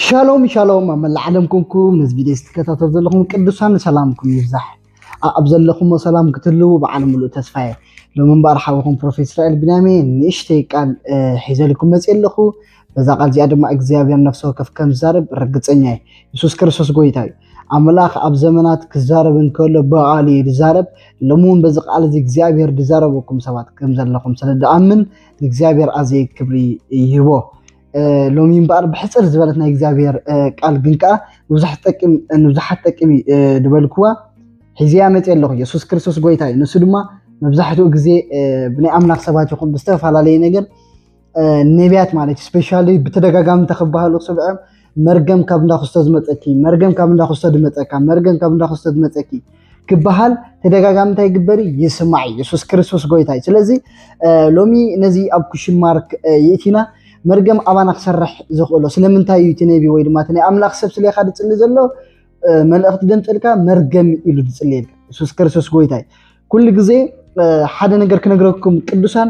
ሻሎም ሻሎም፣ ኣብ መላእ ዓለም ኮንኩም ነዚ ቪድዮ ትከታተሉ ዘለኹም ቅዱሳን ሰላምኩም ይብዛሕ። ኣብ ዘለኹሞ ሰላም ክትህልዉ በዓል ሙሉእ ተስፋ እየ። ሎሚ እምበኣር ሓውኹም ፕሮፌት እስራኤል ቢንያሜ ንእሽተይ ቃል ሒዘልኩም መፅእ ኣለኹ። በዛ ቃል እዚኣ ድማ እግዚኣብሔር ነፍሲ ወከፍ ከም ዝዛረብ ርግፀኛ እየ። የሱስ ክርስቶስ ጎይታ እዩ። ኣምላኽ ኣብ ዘመናት ክዛረብ እንከሎ ብቃሉ እዩ ዝዛረብ። ሎሚ እውን በዚ ቃል እዚ እግዚኣብሔር ዝዛረበኩም ሰባት ከም ዘለኹም ስለ ድኣምን ንእግዚኣብሔር ኣዘይ ክብሪ ይህቦ። ሎሚ እምበኣር ብሕፅር ዝበለት ናይ እግዚኣብሔር ቃል ግን ከዓ ንብዙሓት ጠቅም እዩ ዝበልክዋ ሒዘያ መፅእ ኣለኹ። የሱስ ክርስቶስ ጎይታ እዩ። ንሱ ድማ መብዛሕትኡ ግዜ ብናይ ኣምላኽ ሰባት ይኹን ብዝተፈላለየ ነገር ነቢያት ማለት እዩ ስፔሻሊ ብተደጋጋሚ እንተክበሃሉ ክስምዐም መርገም ካብ እንዳክስቶ ዝመፀኪ፣ መርገም ካብ እንዳክስቶ ዝመፀካ፣ መርገም ካብ እንዳክስቶ ዝመፀኪ ክበሃል ተደጋጋሚ እንታይ ይግበር እዩ? ይስማዕ እዩ። የሱስ ክርስቶስ ጎይታ እዩ። ስለዚ ሎሚ ነዚ ኣብ ኩሽን ማርክ ይእቲና መርገም ኣባና ክሰርሕ ዝኽእሎ ስለምንታይ እዩ? እቲ ነቢ ወይ ድማ እቲ ናይ ኣምላኽ ሰብ ስለኻ ዝፅሊ ዘሎ መልእኽቲ ደምፅልካ መርገም ኢሉ ዝፅልየልካ የሱስ ክርስቶስ ጎይታ እዩ። ኩሉ ግዜ ሓደ ነገር ክነግረኩም ቅዱሳን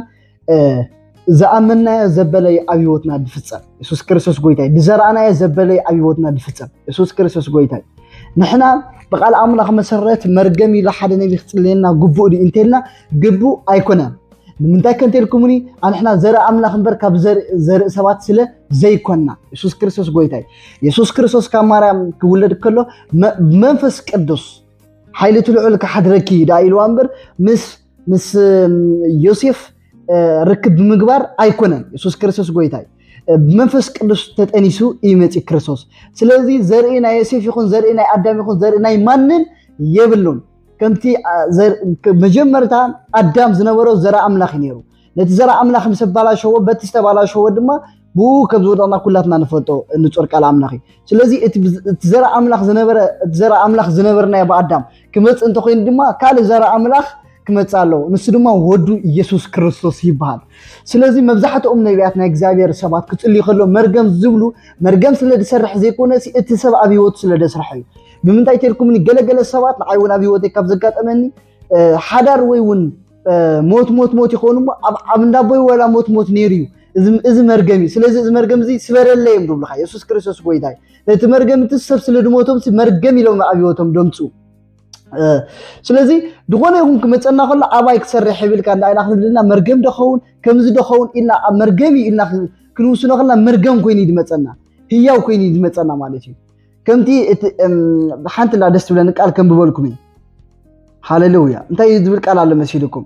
ዝኣመናዮ ዘበለይ ኣብ ህይወትና ድፍጸም የሱስ ክርስቶስ ጎይታ እዩ። ዝዘራእናዮ ዘበለይ ኣብ ህይወትና ድፍጸም የሱስ ክርስቶስ ጎይታ እዩ። ንሕና ብቃል ኣምላኽ መሰረት መርገም ኢሉ ሓደ ነቢ ክጽልየና ግቡእ ድዩ እንተልና ግቡእ ኣይኮነን። ንምንታይ ከንቴልኩምኒ ኣንሕና ዘርኢ ኣምላኽ እምበር ካብ ዘርኢ ሰባት ስለ ዘይኮንና የሱስ ክርስቶስ ጎይታ እዩ። የሱስ ክርስቶስ ካብ ማርያም ክውለድ ከሎ ብመንፈስ ቅዱስ ሓይሊ እቲ ልዑል ክሓድረኪ ደኣ ኢልዋ እምበር ምስ ምስ ዮሴፍ ርክብ ብምግባር ኣይኮነን። የሱስ ክርስቶስ ጎይታ እዩ። ብመንፈስ ቅዱስ ተጠኒሱ እዩ መፂኡ ክርስቶስ። ስለዚ ዘርኢ ናይ ዮሴፍ ይኹን ዘርኢ ናይ ኣዳም ይኹን ዘርኢ ናይ ማንም የብሉን። ከምቲ መጀመርታ ኣዳም ዝነበሮ ዘርኢ ኣምላኽ እዩ ነይሩ። ነቲ ዘርኢ ኣምላኽ ምስ ኣባላሸዎ በቲ ዝተባላሸዎ ድማ ብኡ ከም ዝወደቕና ኩላትና ንፈልጦ ንጹር ቃል ኣምላኽ እዩ። ስለዚ እቲ ዘርኢ ኣምላኽ ዝነበረ እቲ ዘርኢ ኣምላኽ ዝነበርናዮ ብኣዳም ክመጽእ እንተኮይኑ ድማ ካልእ ዘርኢ ኣምላኽ ክመጽእ ኣለዎ። ንሱ ድማ ወዱ ኢየሱስ ክርስቶስ ይበሃል። ስለዚ መብዛሕትኦም ነቢያት ናይ እግዚኣብሔር ሰባት ክጽልዩ ከሎ መርገም ዝብሉ መርገም ስለ ዝሰርሕ ዘይኮነ እቲ ሰብ ኣብ ህይወቱ ስለ ዘስርሐ እዩ። ብምንታይ ተልኩምኒ ገለገለ ሰባት ንዓይ እውን ኣብ ህይወተይ ካብ ዘጋጠመኒ ሓዳር ወይ እውን ሞት ሞት ሞት ይኸውን እሞ ኣብ እንዳቦይ ወላ ሞት ሞት ነይሩ እዩ። እዚ መርገም እዩ። ስለዚ እዚ መርገም እዚ ስበረለይ እዮም ዝብሉካ። የሱስ ክርስቶስ ጎይታ እዩ። ነቲ መርገም እቲ ሰብ ስለ ድሞቶም መርገም ኢሎም ኣብ ህይወቶም ደምፅኡ። ስለዚ ዝኾነ ይኹን ክመፀና ከሎ ኣባይ ክሰርሕ ይብልካ እንዳ ኢላ ክንብልና መርገም ደኸውን ከምዚ ደኸውን ኢልና ኣብ መርገም እዩ ኢልና ክንውስኖ ከልና መርገም ኮይኑ እዩ ዝመፀና፣ ህያው ኮይኑ እዩ ዝመፀና ማለት እዩ። ከምቲ ሓንቲ እንዳ ደስ ትብለኒ ቃል ከንብበልኩም እዩ። ሃሌሉያ። እንታይ እዩ ዝብል ቃል ኣሎ መሲልኩም?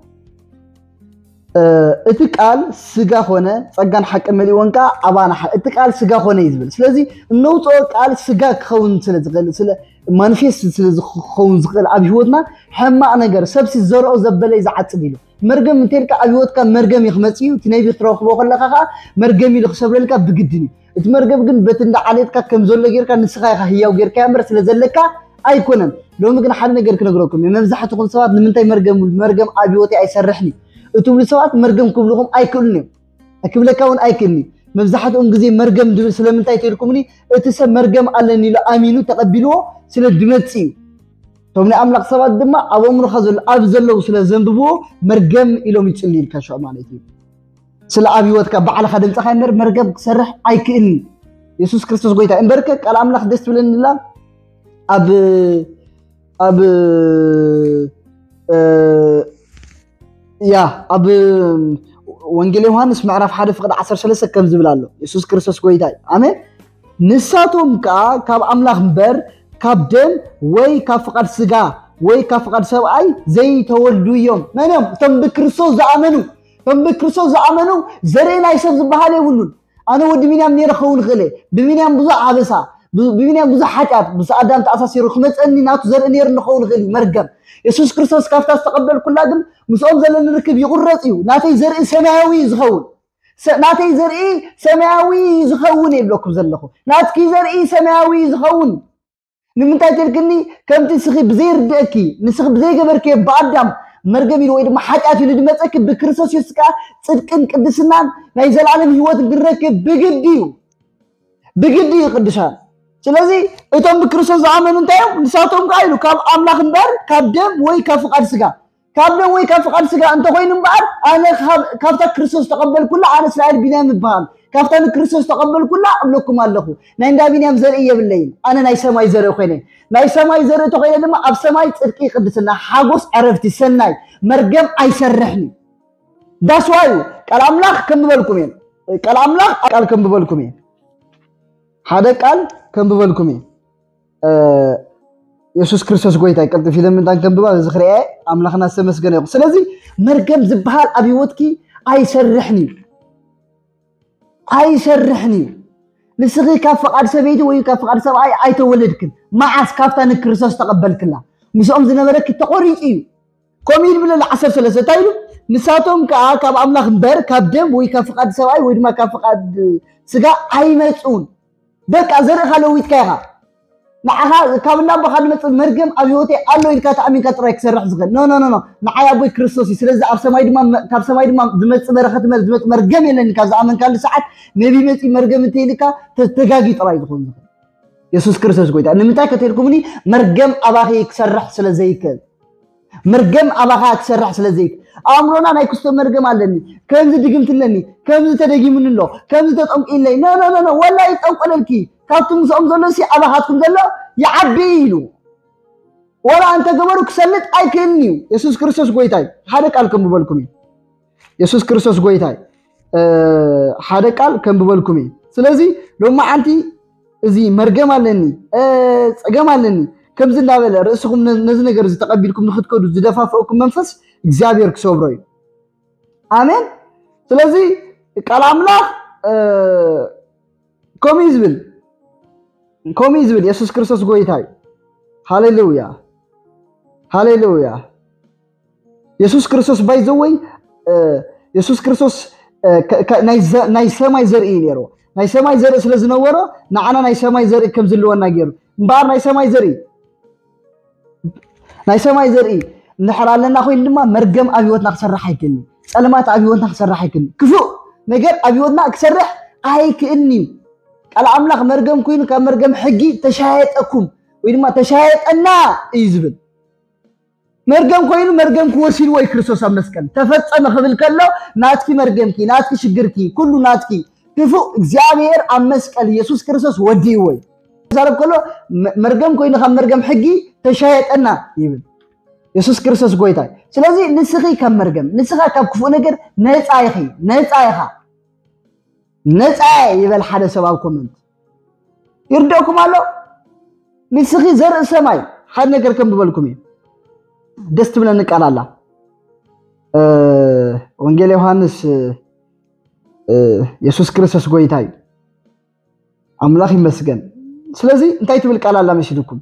እቲ ቃል ስጋ ኾነ ጸጋን ሓቂ መሊእወን ከዓ ኣባና ሓ- እቲ ቃል ስጋ ኾነ እዩ ዝብል። ስለዚ እነውፅኦ ቃል ስጋ ክኸውን ስለ ዝኽእል ስለ ማኒፌስት ስለ ዝኸውን ዝኽእል ኣብ ህይወትና ሕማቕ ነገር ሰብሲ ዘርኦ ዘበለ እዩ ዝዓጽድ ኢሉ መርገም እንተልካ ኣብ ህይወትካ መርገም እዩ ክመጽእ እዩ። እቲ ነቢ ክትረኽቦ ከለካ ከዓ መርገም ኢሉ ክሰብረልካ ብግድን እዩ። እቲ መርገም ግን በቲ እንዳ ዓሌትካ ከም ዘሎ ጌርካ ንስኻ ኢኻ ህያው ጌርካ እምበር ስለ ዘለካ ኣይኮነን። ሎሚ ግን ሓደ ነገር ክነግረኩም እየ። መብዛሕትኹም ሰባት ንምንታይ መርገም መርገም ኣብ ህይወተይ ኣይሰርሕን እዩ እትብሉ ሰባት መርገም ክብልኹም ኣይክእሉን እዮም። ክብለካ እውን ኣይክእልኒ። መብዛሕትኦም ግዜ መርገም ድብል ስለምንታይ ተልኩምኒ እቲ ሰብ መርገም ኣለኒ ኢሉ ኣሚኑ ተቐቢልዎ ስለ ድመጽእ እዩ። እቶም ናይ ኣምላኽ ሰባት ድማ ኣብ ኣእምሮኻ ዘሎ ኣብ ዘለዉ ስለ ዘንብብዎ መርገም ኢሎም ይጽልዩልካ ሽዑ ማለት እዩ። ስለ ኣብ ህይወትካ ባዕልኻ ድምፅኻ እምበር መርገም ክሰርሕ ኣይክእልን። የሱስ ክርስቶስ ጎይታ እምበርከ ቃል ኣምላኽ ደስ ትብለኒ ላ ኣብ ኣብ ያ ኣብ ወንጌል ዮሃንስ ምዕራፍ ሓደ ፍቅዲ ዓሰርተ ሰለስተ ከም ዝብል ኣሎ። የሱስ ክርስቶስ ጎይታ እዩ። ኣሜን። ንሳቶም ከዓ ካብ ኣምላኽ እምበር ካብ ደም ወይ ካብ ፍቓድ ስጋ ወይ ካብ ፍቓድ ሰብኣይ ዘይተወልዱ እዮም። መን እዮም? እቶም ብክርስቶስ ዝኣመኑ። እቶም ብክርስቶስ ዝኣመኑ ዘርኢ ናይ ሰብ ዝበሃል የብሉን። ኣነ ወዲ ቢንያም ነይረ ክኸውን ይኽእል እየ። ብቢንያም ብዙሕ ኣበሳ፣ ብቢንያም ብዙሕ ሓጢኣት ምስ ኣዳም ተኣሳሲሩ ክመፀኒ ናቱ ዘርኢ ነይሩ ንኸውን ይኽእል እዩ። መርገም የሱስ ክርስቶስ ካብታ ዝተቐበልኩላ ግን ምስኦም ዘለኒ ርክብ ይቑረፅ እዩ። ናተይ ዘርኢ ሰማያዊ እዩ ዝኸውን። ናተይ ዘርኢ ሰማያዊ እዩ ዝኸውን እየ ይብለኩም ዘለኹ። ናትኪ ዘርኢ ሰማያዊ እዩ ዝኸውን። ንምንታይ ተልክኒ ከምቲ ንስኺ ብዘይርድእኪ ንስኺ ብዘይገበርክዮ ብኣዳም መርገም ኢሉ ወይ ድማ ሓጢኣት ኢሉ ድመፀኪ ብክርስቶስ የሱስ ከዓ ፅድቅን ቅድስናን ናይ ዘለኣለም ህይወትን ክንረክብ ብግዲ እዩ። ብግዲ እዩ ቅዱሳን። ስለዚ እቶም ብክርስቶስ ዝኣመኑ እንታይ እዮም? ንሳቶም ከዓ ኢሉ ካብ ኣምላኽ እምበር ካብ ደም ወይ ካብ ፍቓድ ስጋ ካብ ደም ወይ ካብ ፍቓድ ስጋ እንተኮይኑ እምበኣር ኣነ ካብታ ክርስቶስ ተቐበልኩላ ኣነ እስራኤል ቢንያም ይበሃል። ካብታ ንክርስቶስ ተቐበልኩላ እብለኩም ኣለኹ፣ ናይ እንዳ ቢንያም ዘርኢ የብለይን። ኣነ ናይ ሰማይ ዘርኢ ኮይነ፣ ናይ ሰማይ ዘርኢ ተኮይነ ድማ ኣብ ሰማይ ጽድቂ፣ ቅድስና፣ ሓጎስ፣ ዕረፍቲ፣ ሰናይ፣ መርገም ኣይሰርሕን እዩ። ዳስዋዩ ቃል ኣምላኽ ከንብበልኩም እየ። ቃል ኣምላኽ ቃል ከንብበልኩም እየ። ሓደ ቃል ከንብበልኩም እየ። የሱስ ክርስቶስ ጎይታ እዩ። ቀልጥፍ ኢለ ምንታን ከንብባ እዚ ክሪኤ ኣምላኽና ዝተመስገነ ይኹን። ስለዚ መርገም ዝበሃል ኣብ ህይወትኪ ኣይሰርሕን እዩ። ኣይሰርሕን እዩ። ንስኺ ካብ ፍቓድ ሰበይቲ ወይ ካብ ፍቓድ ሰብኣይ ኣይተወለድክን። መዓስ ካብታ ንክርስቶስ ተቐበልክላ ምስኦም ዝነበረኪ ተቖሪጹ እዩ። ከምኡ ይብል ዓሰርተ ሰለስተ እንታይ ኢሉ? ንሳቶም ከዓ ካብ ኣምላኽ እምበር ካብ ደም ወይ ካብ ፍቓድ ሰብኣይ ወይ ድማ ካብ ፍቓድ ስጋ ኣይመጹን። በቃ ዘርእኻ ለዊጥካ ኢኻ። ንዓኻ ካብ እንዳቦኻ ዝመጽእ መርገም ኣብ ህይወተይ ኣሎ ኢልካ ተኣሚንካ ጥራይ ክሰርሕ ዝኽእል። ኖ ኖ ኖ ኖ። ንዓይ ኣቦይ ክርስቶስ እዩ። ስለዚ ኣብ ሰማይ ድማ ካብ ሰማይ ድማ ዝመጽእ በረኸት መ- ዝመጽእ መርገም የለኒ። ካብ ዝኣመንካሉ ሰዓት ነቢ መጺ መርገም እንተይልካ ተተጋጊ ጥራይ ዝኾን ዝኽእል። የሱስ ክርስቶስ ጎይታ። ንምንታይ ከተልኩምኒ? መርገም ኣባኺ ክሰርሕ ስለ ዘይክእል። መርገም ኣባኻ ክሰርሕ ስለ ዘይክ ኣእምሮና ናይ ክስቶ መርገም ኣለኒ፣ ከምዚ ድግምቲ ኣለኒ፣ ከምዚ ተደጊሙኒ ኣሎ፣ ከምዚ ተጠንቂለይ። ኖ ኖ ኖ ኖ። ወላ ይጠንቆለልኪ። ካብቲ ምስኦም ዘሎ ሲ ኣባኻትኩም ዘሎ ይዓቢ ኢሉ። ወላ እንተ ገበሩ ክሰልጥ ኣይክእልን እዩ። የሱስ ክርስቶስ ጎይታ እዩ። ሓደ ቃል ከንብበልኩም እዩ። የሱስ ክርስቶስ ጎይታ እዩ። ሓደ ቃል ከንብበልኩም እዩ። ስለዚ ሎማዓንቲ እዚ መርገም ኣለኒ፣ ጸገም ኣለኒ ከምዚ እንዳበለ ርእስኹም ነዚ ነገር እዚ ተቐቢልኩም ንክትከዱ ዝደፋፍእኩም መንፈስ እግዚኣብሔር ክሰብሮ እዩ። ኣሜን። ስለዚ ቃል ኣምላኽ ከምኡ እዩ ዝብል፣ ከምኡ እዩ ዝብል። የሱስ ክርስቶስ ጎይታ እዩ። ሃሌሉያ፣ ሃሌሉያ። የሱስ ክርስቶስ ባይዘወይ፣ የሱስ ክርስቶስ ናይ ሰማይ ዘርኢ እዩ ነይሩ። ናይ ሰማይ ዘርኢ ስለ ዝነበሮ ንዓና ናይ ሰማይ ዘርኢ ከም ዝልወና ገይሩ። እምበኣር ናይ ሰማይ ዘርኢ ናይ ሰማይ ዘርኢ እንድሕር ኣለና ኮይኑ ድማ መርገም ኣብ ህይወትና ክሰርሕ ኣይክእልን። ጸልማት ኣብ ህይወትና ክሰርሕ ኣይክእልን። ክፉእ ነገር ኣብ ህይወትና ክሰርሕ ኣይክእልን እዩ። ቃል ኣምላኽ መርገም ኮይኑ ካብ መርገም ሕጊ ተሻየጠኩም ወይ ድማ ተሻየጠና እዩ ዝብል። መርገም ኮይኑ መርገም ክወሲድዎ እዩ ክርስቶስ ኣብ መስቀል። ተፈጸመ ክብል ከሎ ናትኪ መርገምኪ፣ ናትኪ ሽግርኪ፣ ኩሉ ናትኪ። ክፉእ እግዚኣብሔር ኣብ መስቀል የሱስ ክርስቶስ ወዲእዎ እዩ። ክዛረብ ከሎ መርገም ኮይኑ ካብ መርገም ሕጊ ተሻየጠና ይብል። የሱስ ክርስቶስ ጎይታ እዩ። ስለዚ ንስኺ ካብ መርገም፣ ንስኻ ካብ ክፉእ ነገር ነፃ ኢኺ፣ ነፃ ኢኻ። ነፃ ይበል ሓደ ሰብ ኣብ ኮመንት። ይርደኩም ኣሎ። ንስኺ ዘርኢ ሰማይ ሓደ ነገር ከም ብበልኩም እዩ። ደስ ትብለኒ ቃል ኣላ። ወንጌል ዮሃንስ የሱስ ክርስቶስ ጎይታ እዩ። ኣምላኽ ይመስገን። ስለዚ እንታይ ትብል ቃል ኣላ መሲልኩም?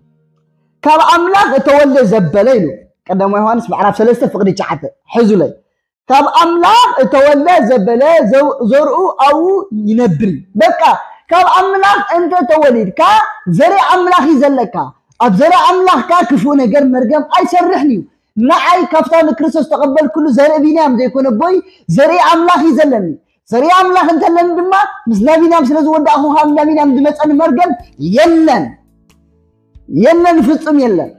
ካብ ኣምላኽ እተወልደ ዘበለ ኢሉ ቀዳማዊ ዮሃንስ ምዕራፍ ሰለስተ ፍቕዲ ትሽዓተ ሕዙለይ። ካብ ኣምላኽ እተወልደ ዘበለ ዘርኡ ኣብኡ ይነብር እዩ። በቃ ካብ ኣምላኽ እንተ ተወሊድካ ዘርኢ ኣምላኽ እዩ ዘለካ። ኣብ ዘርኢ ኣምላኽካ ክፉእ ነገር መርገም ኣይሰርሕን እዩ። ንዓይ ካብታ ንክርስቶስ ተቐበልኩሉ ዘርኢ ቢንያም ዘይኮነ ቦይ ዘርኢ ኣምላኽ እዩ ዘለኒ። ዘርኢ ኣምላኽ እንተለኒ ድማ ምስ ናቢንያም ስለ ዝወዳእኹ ካብ ናቢንያም ዝመፀኒ መርገም የለን፣ የለን፣ ፍጹም የለን።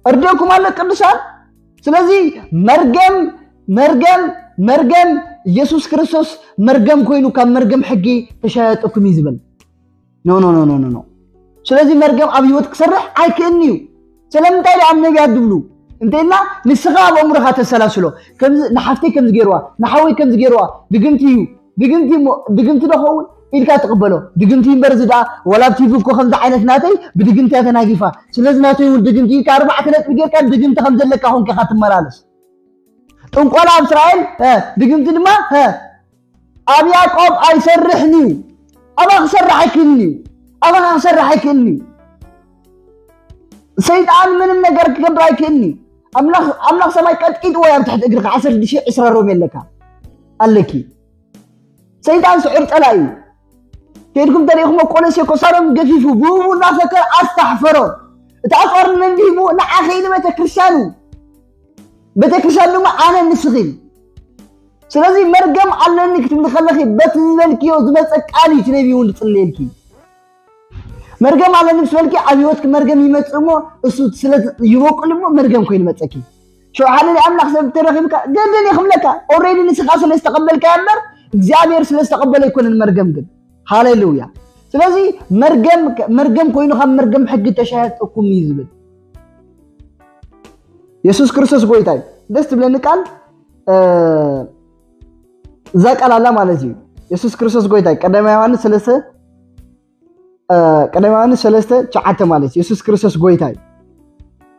እርደኩም ኣሎ ቅዱሳን። ስለዚ መርገም መርገም መርገም ኢየሱስ ክርስቶስ መርገም ኮይኑ ካብ መርገም ሕጊ ተሻያጠኩም እዩ ዝብል። ኖ ኖ ኖ ኖ ኖ። ስለዚ መርገም ኣብ ህይወት ክሰርሕ ኣይክእልን እዩ። ስለምንታይ ደኣ ኣብ ነቢያት ዝብሉ እንተኢልና ንስኻ ኣብ ኣእምሮኻ ተሰላስሎ። ከምዚ ንሓፍተይ ከምዚ ገይርዋ፣ ንሓወይ ከምዚ ገይርዋ፣ ድግምቲ እዩ፣ ድግምቲ እሞ ድግምቲ ዶ ኸውን ኢልካ ትቕበሎ። ድግምቲ እምበር እዚ ደኣ ዋላ ኣብ ቲቪ እኮ ከምዚ ዓይነት ናተይ ብድግምቲ እያ ተናጊፋ። ስለዚ ናተይ እውን ድግምቲ ኢልካ ኣርባዕተ ነጥቢ ጌርካ ድግምቲ ከም ዘለካ ኮንካ ኢኻ ትመላለስ። ጥንቆላ ኣብ እስራኤል ድግምቲ ድማ ኣብ ያዕቆብ ኣይሰርሕን እዩ። ኣባኻ ክሰርሕ ኣይክእልን እዩ። ኣባኻ ክሰርሕ ኣይክእልን እዩ። ሰይጣን ምንም ነገር ክገብር ኣይክእልን እዩ። ኣምላኽ ኣምላኽ ሰማይ ቀጥቂጥዎ ኣብ ትሕቲ እግርኻ ዓሰርተ ሽሕ ዕስራ ሮም የለካ ኣለኪ። ሰይጣን ስዑር ጸላኢ እዩ። ከይድኩም ተሪእኹሞ ቆሎሴ ኮሳሮም ገፊፉ ብእኡ እናፈከረ ኣስታሕፈሮ። እቲ ኣጽዋር ንመን ሂቡ? ንዓኺ ንቤተክርስትያኑ። ቤተክርስትያን ድማ ኣነ ንስኺን። ስለዚ መርገም ኣለኒ ክትብሊ ከለኺ በቲ ዝበልክዮ ዝመፀ ቃል እዩ እቲ ነቢይ እውን ዝፅለየልኪ። መርገም ኣለኒ ምስ በልኪ ኣብ ህይወትኪ መርገም ይመፅእ እሞ እሱ ስለ ይበቁል እሞ መርገም ኮይኑ መፀኪ። ሽዑ ሓደ ናይ ኣምላኽ ሰብ ተረኺብካ ገድል እዩ ክብለካ። ኦልሬዲ ንስኻ ስለ ዝተቐበልካዮ እምበር እግዚኣብሔር ስለ ዝተቐበለ ኣይኮነን መርገም ግን። ሃሌሉያ። ስለዚ መርገም መርገም ኮይኑ ካብ መርገም ሕጊ ተሻየጥኩም እዩ ዝብል። የሱስ ክርስቶስ ጎይታ እዩ። ደስ ትብለኒ ቃል እዛ ቃል ኣላ ማለት እዩ። የሱስ ክርስቶስ ጎይታ እዩ። ቀዳማይ ዮሃንስ ሰለስተ ቀዳማይ ዮሃንስ ሰለስተ ትሽዓተ ማለት የሱስ ክርስቶስ ጎይታ እዩ።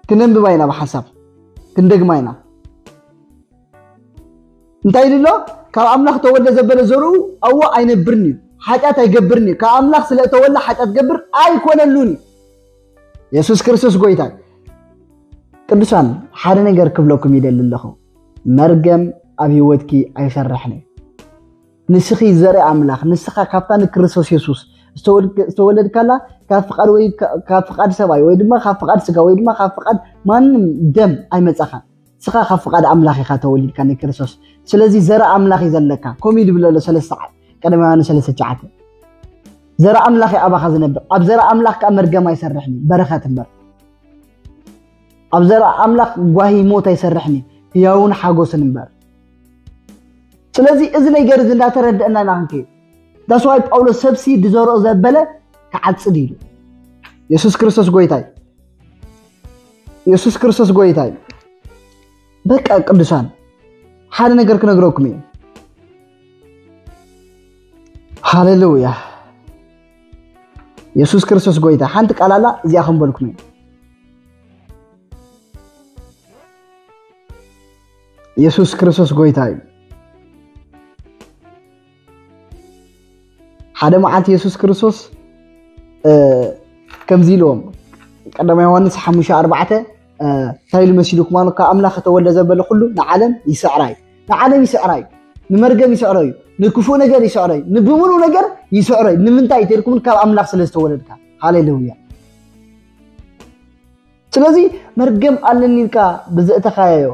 ክነንብባ ኢና ብሓሳብ ክንደግማ ኢና። እንታይ ኢሉ ኣሎ? ካብ ኣምላኽ ተወልደ ዘበለ ዘርኡ ኣብኡ ኣይነብርን እዩ፣ ሓጢኣት ኣይገብርን እዩ። ካብ ኣምላኽ ስለ እተወልደ ሓጢኣት ገብር ኣይኮነሉን እዩ። የሱስ ክርስቶስ ጎይታ እዩ። ቅዱሳን፣ ሓደ ነገር ክብለኩም ይደሊ ኣለኹ። መርገም ኣብ ህይወትኪ ኣይሰርሕን እዩ። ንስኺ ዘርኢ ኣምላኽ፣ ንስኻ ካብታ ንክርስቶስ የሱስ ዝተወለድካላ ካብ ፍቓድ ወይ ካብ ፍቓድ ሰብኣይ ወይ ድማ ካብ ፍቓድ ስጋ ወይ ድማ ካብ ፍቓድ ማንም ደም ኣይመጻኻን። ንስኻ ካብ ፍቓድ ኣምላኽ ኢኻ ተወሊድካ ንክርስቶስ። ስለዚ ዘርኢ ኣምላኽ እዩ ዘለካ። ከምኡ እዩ ድብለሎ ሰለስተ ቀዳማይ ዮሃንስ ሰለስተ ትሽዓተ። ዘርኢ ኣምላኽ እዩ ኣባኻ ዝነብር። ኣብ ዘርኢ ኣምላኽ ከኣ መርገም ኣይሰርሕን እዩ፣ በረኸት እምበር። ኣብ ዘርኢ ኣምላኽ ጓሂ ሞት ኣይሰርሕን እዩ፣ ህያውን ሓጎስን እምበር። ስለዚ እዚ ነገር እዚ እንዳተረድእና ኢና ክንከይድ። ዳስዋይ ጳውሎስ ሰብሲ ድዘርኦ ዘበለ ክዓጽድ ኢሉ። የሱስ ክርስቶስ ጎይታ እዩ። የሱስ ክርስቶስ ጎይታ እዩ። በቃ ቅዱሳን ሓደ ነገር ክነግረኩም እዩ። ሃሌሉያ። የሱስ ክርስቶስ ጎይታ። ሓንቲ ቃል ኣላ እዚኣ ክንበልኩም እዩ። የሱስ ክርስቶስ ጎይታ እዩ። ሓደ መዓልቲ የሱስ ክርስቶስ ከምዚ ኢልዎም፣ ቀዳማይ ዮሃንስ ሓሙሽተ ኣርባዕተ እንታይ ኢሉ መሲልኩም ኣሎ? ካብ ኣምላኽ ከተወልደ ዘበለ ኩሉ ንዓለም ይስዕራ እዩ። ንዓለም ይስዕራ እዩ። ንመርገም ይስዕሮ እዩ። ንክፉእ ነገር ይስዕሮ እዩ። ንብምሉ ነገር ይስዕሮ እዩ። ንምንታይ ተልኩም? ካብ ኣምላኽ ስለ ዝተወለድካ። ሃሌሉያ። ስለዚ መርገም ኣለኒ ኢልካ ብዘእተኻዮ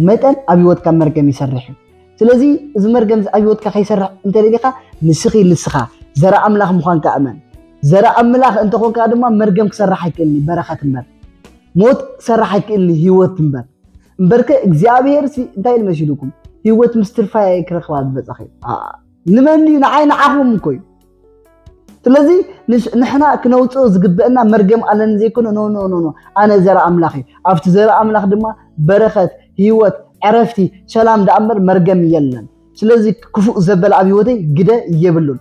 መጠን ኣብ ህይወትካ መርገም ይሰርሕ እዩ። ስለዚ እዚ መርገም ኣብ ህይወትካ ከይሰርሕ እንተደሊኻ ንስኺ ንስኻ ዘርኢ ኣምላኽ ምዃንካ እመን። ዘርኢ ኣምላኽ እንተኾንካ ድማ መርገም ክሰርሕ ኣይክእልኒ በረኸት እምበር ሞት ክሰርሕ ኣይክእልኒ ህይወት እምበር። እምበርከ እግዚኣብሔር ሲ እንታይ ኢሉ መሲልኩም? ህይወት ምስ ትርፋይ ክረኽባ ዝበጻኺ። ንመን እዩ? ንዓይ ንዓኹም እኮ እዩ። ስለዚ ንሕና ክነውፅኦ ዝግበአና መርገም ኣለኒ ዘይኮነ ኖ ኖ ኖ ኖ ኣነ ዘርኢ ኣምላኽ እዩ። ኣብቲ ዘርኢ ኣምላኽ ድማ በረኸት፣ ህይወት፣ ዕረፍቲ፣ ሰላም ደኣ እምበር መርገም የለን። ስለዚ ክፉእ ዘበለ ኣብ ህይወተይ ግደ የብሉን።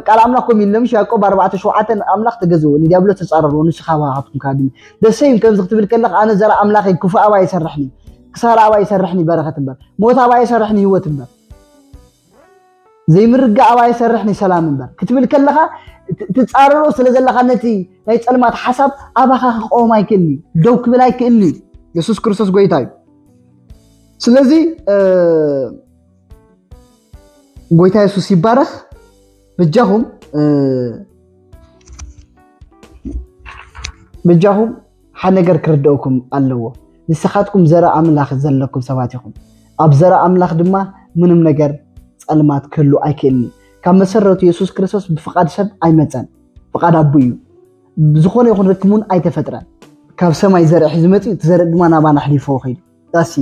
ቃል ኣምላኽ ከም ኢለምሽ ያዕቆብ ኣርባዕተ ሸውዓተ ኣምላኽ ተገዝዎ ንዲያብሎስ ተጻረርዎ ንሱ ካባኻትኩም ካድሚ ደሰይም ከምዚ ክትብል ከለኻ ኣነ ዘርኢ ኣምላኸይ ክፉእ ኣባ ይሰርሕኒ ክሳራ ኣባ ይሰርሕኒ በረኸት እምበር ሞት ኣባ ይሰርሕኒ ህይወት እምበር ዘይምርግጋእ ኣባይ ይሰርሕ ንሰላም እምበር ክትብል ከለኻ ትጻረሮ ስለ ዘለኻ ነቲ ናይ ጸልማት ሓሳብ ኣባኻ ክቆም ኣይክእልኒ ደው ክብል ኣይክእልኒ። የሱስ ክርስቶስ ጎይታ እዩ። ስለዚ ጎይታ የሱስ ይባረኽ። በጃኹም በጃኹም ሓደ ነገር ክርደኡኩም ኣለዎ። ንስኻትኩም ዘረ ኣምላኽ ዘለኩም ሰባት ኢኹም። ኣብ ዘረ ኣምላኽ ድማ ምንም ነገር ጸልማት ክህሉ ኣይክእልን እዩ። ካብ መሰረቱ የሱስ ክርስቶስ ብፍቓድ ሰብ ኣይመጸን፣ ፍቓድ ኣቡ እዩ። ዝኾነ ይኹን ርክብ እውን ኣይተፈጥረን። ካብ ሰማይ ዘርእ ሒዙ መጺኡ እቲ ዘርእ ድማ ናባና ኣሕሊፎ ኸይዱ። ዳሲ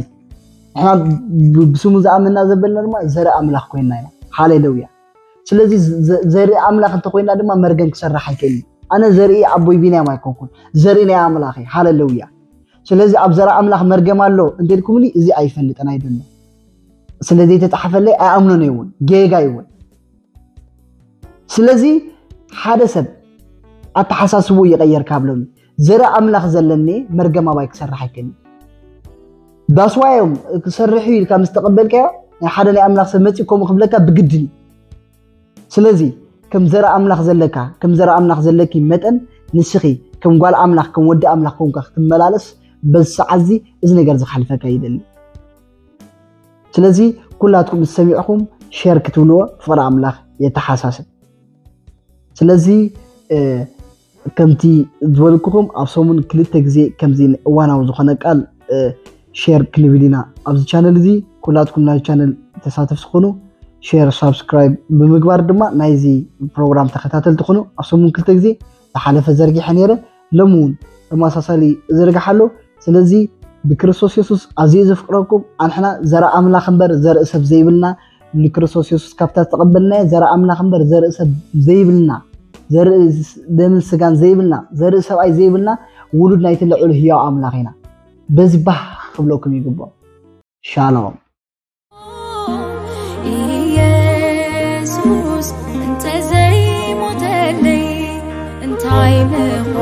ንሕና ብስሙ ዝኣመንና ዘበልና ድማ ዘርኢ ኣምላኽ ኮይንና ኢና። ሃሌሉያ። ስለዚ ዘርኢ ኣምላኽ እንተኮይንና ድማ መርገም ክሰርሕ ኣይክእልን። ኣነ ዘርኢ ኣቦይ ቢንያም ኣይኮንኩን፣ ዘርኢ ናይ ኣምላኽ እዩ። ሃሌሉያ። ስለዚ ኣብ ዘርኢ ኣምላኽ መርገም ኣሎ እንተልኩምኒ እዚ ኣይፈልጥን ኣይደለ ስለዘይተጻሓፈለይ ኣይኣምኖን እውን ጌጋ ይውን ስለዚ ሓደ ሰብ ኣተሓሳስቡ ይቐየር ካብ ሎሚ ዘርኢ ኣምላኽ ዘለኒ መርገም ኣባይ ክሰርሕ ኣይክእልን። ዳስዋዮም ክሰርሕ እዩ ኢልካ ምስ ተቐበልካዮ ናይ ሓደ ናይ ኣምላኽ ሰብ መፂእ ከምኡ ክብለካ ብግድን እዩ። ስለዚ ከም ዘርኢ ኣምላኽ ዘለካ ከም ዘርኢ ኣምላኽ ዘለኪ መጠን ንስኺ ከም ጓል ኣምላኽ ከም ወዲ ኣምላኽ ኮንካ ክትመላለስ በዚ ሰዓት እዚ እዚ ነገር ዝሓልፈካ ይደሊ። ስለዚ ኩላትኩም ዝሰሚዕኹም ሸር ክትብልዎ ፍቕሪ ኣምላኽ የተሓሳስብ። ስለዚ ከምቲ ዝበልኩኹም ኣብ ሰሙን ክልተ ግዜ ከምዚ እዋናዊ ዝኾነ ቃል ሸር ክንብል ኢና ኣብዚ ቻነል እዚ። ኩላትኩም ናይ ቻነል ተሳተፍቲ ኩኑ ሸር ሳብስክራይብ ብምግባር ድማ ናይዚ ፕሮግራም ተኸታተልቲ ኩኑ። ኣብ ሰሙን ክልተ ግዜ ዝሓለፈ ዘርጊሐ ነይረ፣ ሎሚ እውን ተመሳሳሊ እዘርግሓ ኣሎ። ስለዚ ብክርስቶስ የሱስ ኣዝየ ዘፍቅረኩም ኣንሕና ዘርኢ ኣምላኽ እምበር ዘርኢ ሰብ ዘይብልና ንክርስቶስ የሱስ ካብታ ዝተቐበልናዮ ዘርኢ ኣምላኽ እምበር ዘርኢ ሰብ ዘይብልና፣ ዘርኢ ደምን ስጋን ዘይብልና፣ ዘርኢ ሰብኣይ ዘይብልና ውሉድ ናይቲ ልዑል ህያው ኣምላኽ ኢና። በዚ ባህ ክብለኩም ይግባእ። ሻሎም። ኢየሱስ እንተዘይሞተለይ እንታይ ምኾ